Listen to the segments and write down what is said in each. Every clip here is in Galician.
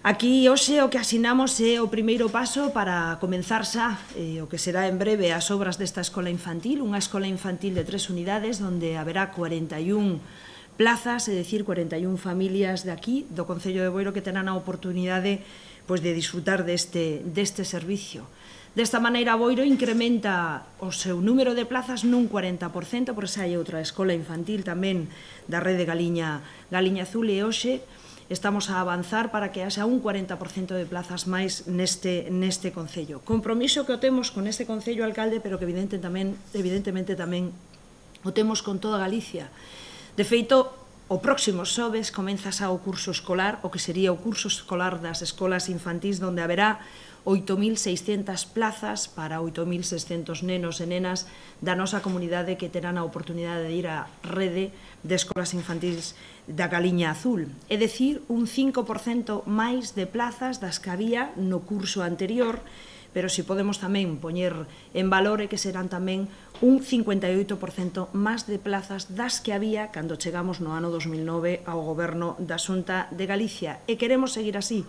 Aquí hoxe o que asinamos é o primeiro paso para comenzar xa o que será en breve as obras desta escola infantil, unha escola infantil de 3 unidades onde haberá 41 plazas, é dicir, 41 familias de aquí, do Concello de Boiro, que terán a oportunidade de disfrutar deste servicio. Desta maneira, Boiro incrementa o seu número de plazas nun 40%, por esa hai outra escola infantil tamén da rede Galiña Azul, e hoxe estamos a avanzar para que haxa un 40% de plazas máis neste Concello. Compromiso que o temos con este Concello, alcalde, pero que evidentemente tamén o temos con toda Galicia. De feito, o próximo xoves comeza xa o curso escolar, o que sería o curso escolar das escolas infantís, onde haberá 8.600 plazas para 8.600 nenos e nenas da nosa comunidade que terán a oportunidade de ir á rede de escolas infantís da Galiña Azul. É dicir, un 5% máis de plazas das que había no curso anterior, pero si podemos tamén poñer en valor é que serán tamén un 58% máis de plazas das que había cando chegamos no ano 2009 ao Goberno da Xunta de Galicia. E queremos seguir así,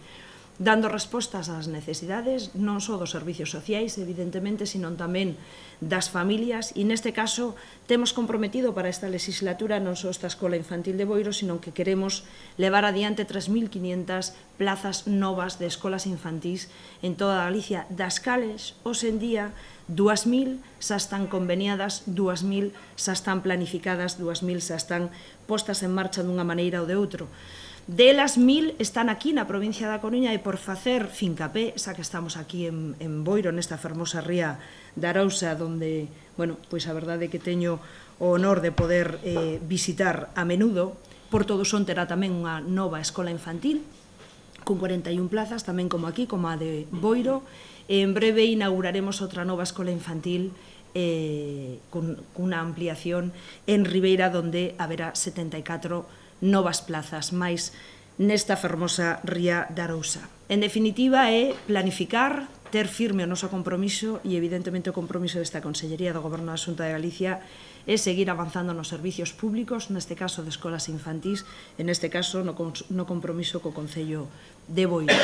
dando respostas ás necesidades non só dos servicios sociais, evidentemente, sino tamén das familias, e neste caso temos comprometido para esta legislatura non só esta escola infantil de Boiro, sino que queremos levar adiante 3.500 plazas novas de escolas infantís en toda Galicia, das cales, hoxe en día, 2.000 xa están conveniadas, 2.000 xa están planificadas, 2.000 xa están postas en marcha dunha maneira ou de outra. Delas, 1.000 están aquí na provincia da Coruña, e por facer fincapé, xa que estamos aquí en Boiro, nesta fermosa ría de Arousa, onde, a verdade é que teño o honor de poder visitar a menudo. Porto do Son terá tamén unha nova escola infantil, con 41 plazas, tamén como aquí, como a de Boiro, e en breve inauguraremos outra nova escola infantil con unha ampliación en Ribeira, onde haberá 74 novas plazas máis nesta fermosa ría de Arousa. En definitiva, é planificar, ter firme o noso compromiso, e evidentemente o compromiso desta Consellería do Goberno da Xunta de Galicia é seguir avanzando nos servicios públicos, neste caso de escolas infantís, e neste caso no compromiso co Concello de Boiro.